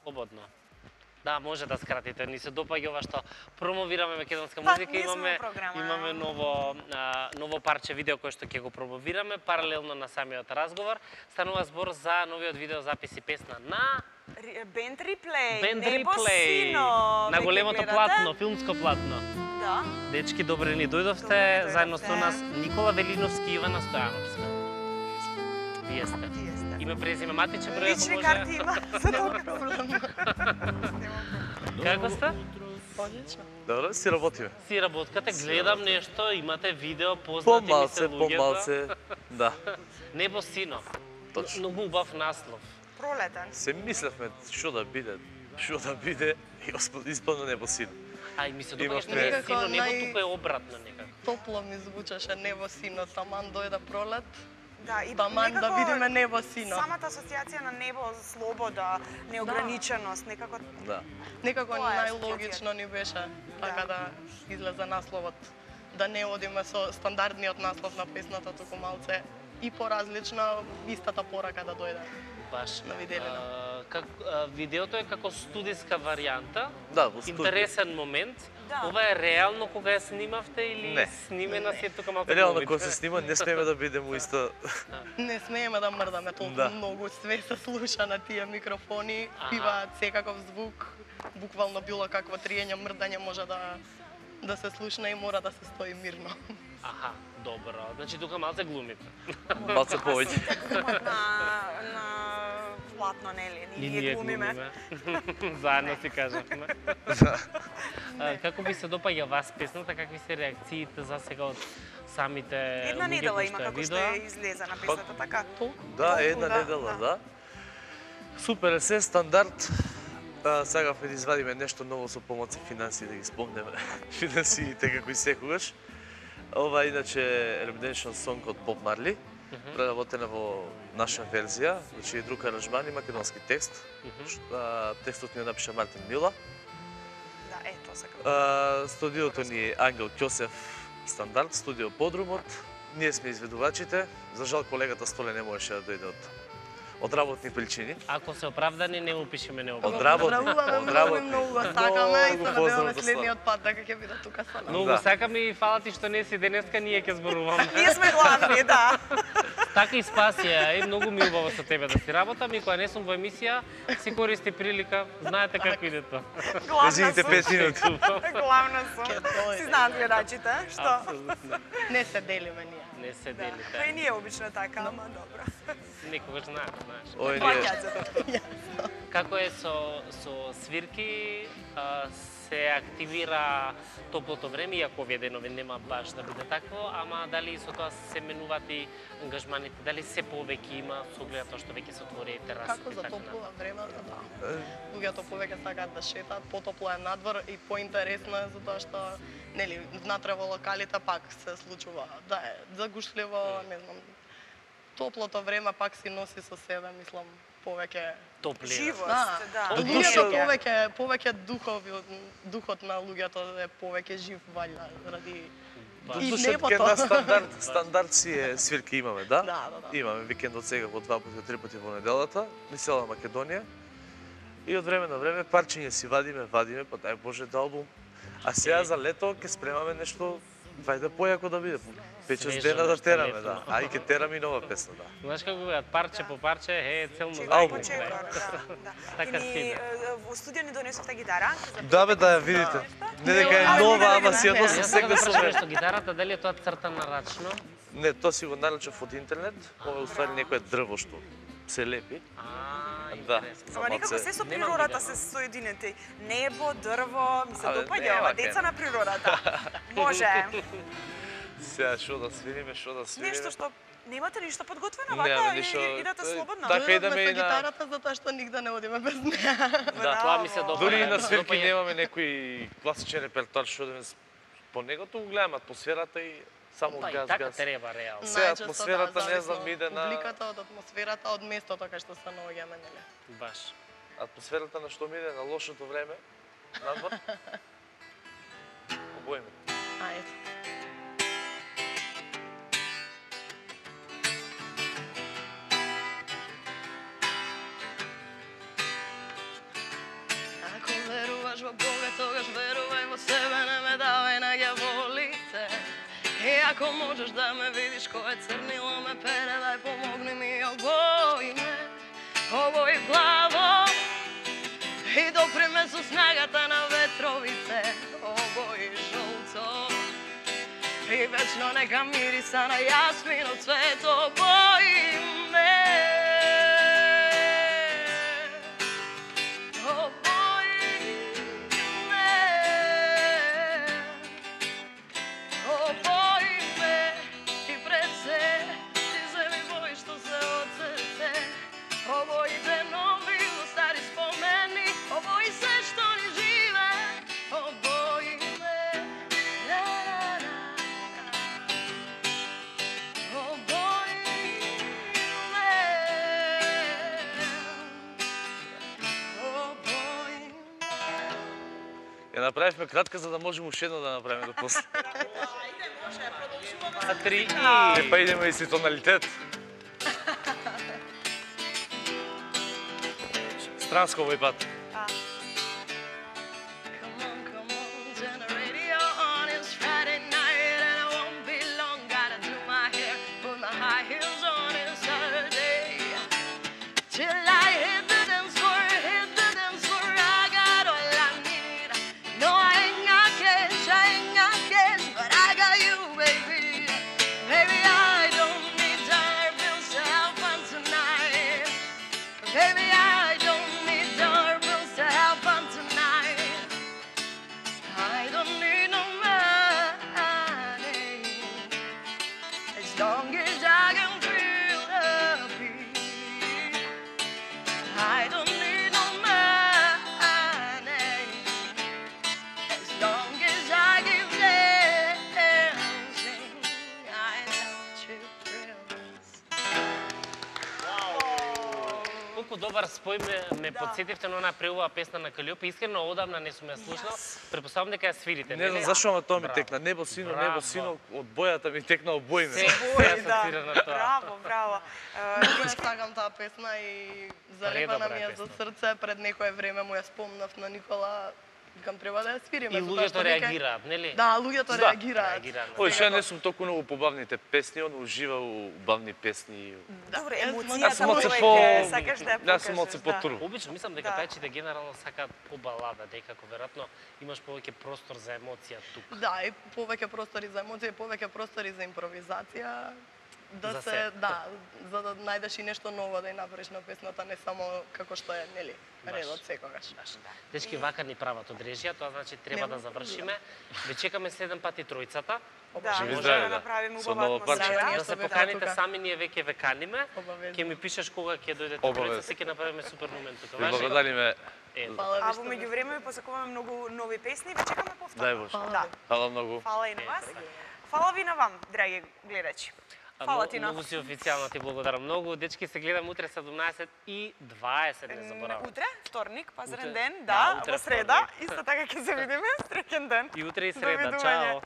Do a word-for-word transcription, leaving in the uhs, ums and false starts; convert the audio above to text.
Слободно. Да, може да скратите. Ни се допаѓа ова што промовираме македонска Па, музика, ние сме имаме во програма. имаме ново а, ново парче видео кое што ќе го промовираме паралелно на самиот разговор. Станува збор за новиот видеозапис и песна на Бенд Реплей. Бенд Небо Реплей. сино. На веќе големото гледате? платно, филмско платно. Да. Дечки, добре ни дојдовте, Добре ни заедно со дојдовте. нас Никола Велиновски и Ивана Стојановска. Вие сте. Вие сте. Име, презиме, матиче број, ако Лични може. карти има за тоа. Како сте? Одлично. Добро, си работиме. Си работкате, гледам нешто, имате видео, познати ми се Помалце, луѓето. помалце, да. Небо сино. Точно. Многу убав наслов. Пролетен. Се мислевме што да биде, што да биде и исполно небо сино. Ај, ми се Имавме- допаѓа што не е сино, небо Нај- тука е обратно некако. Топло ми звучеше небо сино, таман дојде пролет. Да, и Таман да некако видиме небо сино. Самата асоциација на небо, слобода, неограниченост, некако Да. Некако Тоа е најлогично ни беше така да излезе насловот. Да не одиме со стандардниот наслов на песната, туку малце и поразлично, истата порака да дојде. Баш. На виделина. А, как, а, видеото е како студиска варијанта. Да, во студио. Интересен момент. Да. Ова е реално кога ја снимавте или Не. снимена си е тука малку Реално глумите? кога се снима, не смееме да бидеме у иста. Не смееме да мрдаме толку Да. многу, све се слуша на тие микрофони, Аха. биваат секаков звук, буквално било какво триење, мрдање може да да се слушне и мора да се стои мирно. Аха, добро. Значи тука малце глумите. Малце повеќе. Сите глумат на, на платно, нели? И Ние глумиме. Заедно си кажавме. А, како ви се допаѓа вас песната, какви се реакциите за сега од самите Една луѓе недела кои има што ја како што видоа? е излезена песната, така? Да, Толку, една да, недела, да. да. Супер е се, стандард. А, сакавме да извадиме нешто ново со помоци финансии, да ги спомнеме финансиите како и секогаш. Ова е иначе Redemption Song од Bob Marley, преработена во наша верзија, значи и друг аранжман и македонски текст. А, текстот ни ја напиша Мартин Мила. Да, е, тоа сакам. А, студиото ни е Ангел Ќосев Стандард, студио Подрумот. Ние сме изведувачите. За жал колегата Столе не можеше да дојде од од работни причини. Ако се оправдани, не му пишеме не Од оправдани. работни, Поздравуваме од многу, работни. многу го сакаме и се Многу надеваме поздрав до следниот пат дека ќе биде тука со нас. Многу Да. сакам и фала ти што не си денеска, ние ќе зборуваме. Ние сме главни, да. Така и спасија, и многу ми е убаво со тебе да си работам и кога не сум во емисија, си користи прилика, знаете како иде тоа. Главна Неziните сум. пет минути. Главна сум. Ке дојде. Си знаат гледачите, што? Апсолутно. Не се делиме ние. Не се Да. Па и делите. ние обично така, ама добро. Некогаш знаеш, знаеш. Ој Плаќаат ние за тоа. Како е со, со свирки, а, се активира топлото време, иако овие денови нема баш да биде такво, ама дали со тоа се менуваат и ангажманите, дали се повеќе има со оглед тоа што веќе се отвори терасите Како и за така топлува натаму? времето, да. Луѓето повеќе сакаат да шетаат, потопло е надвор и поинтересно е затоа што нели внатре во локалите пак се случува да е загушливо, не знам. Топлото време пак си носи со себе, мислам, повеќе Топлина. Живост, Да, да. луѓето Душа. повеќе повеќе духови, духот на луѓето е повеќе жив валја ради Баш. и Душат небото. ке на стандард, стандард си е свирки имаме, да? Да, да, да. Имаме викендот сега по два пати, три пати во неделата, ни цела Македонија. И од време на време парчиња си вадиме, вадиме, па дај Боже да албум. А сега за лето ќе спремаме нешто вајде појако да биде. пет-шест Свежо, дена да нешто тераме, летно. да. А и ќе тераме и нова песна, да. Знаеш како го парче по парче, е, целно Чекор Албум. по чекор, да, да. Така И ни, си иде. е, во студио ни донесовте гитара. за Да бе, првите да ја песни. видите. Не дека е А, не, нова, не, ама не, си ја не, носам Јас сакам сегде да со прашам мене. нешто, гитарата дали е тоа цртана рачно? Не, тоа си го нарачав од интернет, ова е уствари некое дрво што се лепи. А, Да. интересно. Ама некако малце- се со Немам природата видено. се соединете. Небо, дрво, ми се Абе, допаѓа нема ова, кај деца не. на природата. Може. Сега што да свириме, што да свириме. Нешто што немате ништо подготвено, Нема вака ништо, и- идете е, слободно. така Дојдовме идеме со и на- гитарата затоа што нигде не одиме без неа. Да, тоа ми се Браво. допаѓа. Дури и на Допаѓа. свирки немаме некој класичен репертоар што да по него тоа го гледам атмосферата и само Па и газ, така газ. треба реално. Се, Најчесто, атмосферата, да, не знам, зависно иде од на- публиката, од атмосферата, од местото кај што се наоѓаме, нели? Баш. Атмосферата на што ми иде на лошото време, надвор. Обојме. Ајде. Бога, тогаш верувај во себе, не ме давај на ѓаволите. И ако можеш да ме видиш кое црнило ме пере, дај помогни ми, обои ме, обои плаво. И допри ме со снагата на ветровите, обои жолто. И вечно нека мириса на јасмин од цвет, обои ме. Ја направивме кратка за да можеме уште едно да направиме до после. Ајде, може, продолжуваме. За три Е, па идеме и си тоналитет. Странско овој пат. Добар спој ме, ме подсетивте на онаа преубава песна на Калиопе. Искрено одамна не сум ја слушнал. Предпоставам дека ја свирите. Не знам зашо, ама тоа ми текна. Небо сино, небо сино, од бојата ми текна обои ме. Се асоцира на тоа. Браво, браво. Ја сакам таа песна и залепана ми е за срце. Пред некое време му ја спомнав на Никола. Викам, треба да ја свириме. И луѓето реагираат, нели? Да, луѓето реагираат. Ој, ше не сум толку многу по бавните песни, он ужива у бавни песни. Добре, Јас емоцијата сум од се повеќе по... сакаш да ја покажеш. Јас сум од се потуру. Обично мислам дека пејачите генерално сакаат по балада, дека веројатно имаш повеќе простор за емоција тук. Да, и повеќе простори за емоција, повеќе простори за импровизација. Да За се, се. да, за да најдеш и нешто ново да ја направиш на песната, не само како што е, нели, редот секогаш. Дечки, вака ни прават од режија, тоа значи треба да завршиме. Ве чекаме следен пат и тројцата. Да, Живи може здраве, да да. направиме Со убава ново парче. атмосфера. Да се поканите сами, ние веќе ве каниме. Обавезно. Ќе ми пишеш кога ќе дојдете Обавезно. тројцата, ќе направиме супер момент тука. Ви Важи? благодариме. Е, Фала ви А што во меѓувреме ви посакуваме многу нови песни, ве чекаме повторно. Дај Боже. Да. Фала многу. Фала и на вас. Фала ви на вам, драги гледачи. Фала ти на Многу си официјално ти благодарам многу. Дечки, се гледам утре седумнаесет и дваесет, не заборавам. Утре, вторник, пазарен Утре. ден, Да, да, утре во среда, вторник. исто така ќе се видиме, среќен ден. И утре и среда. Довидување. Чао.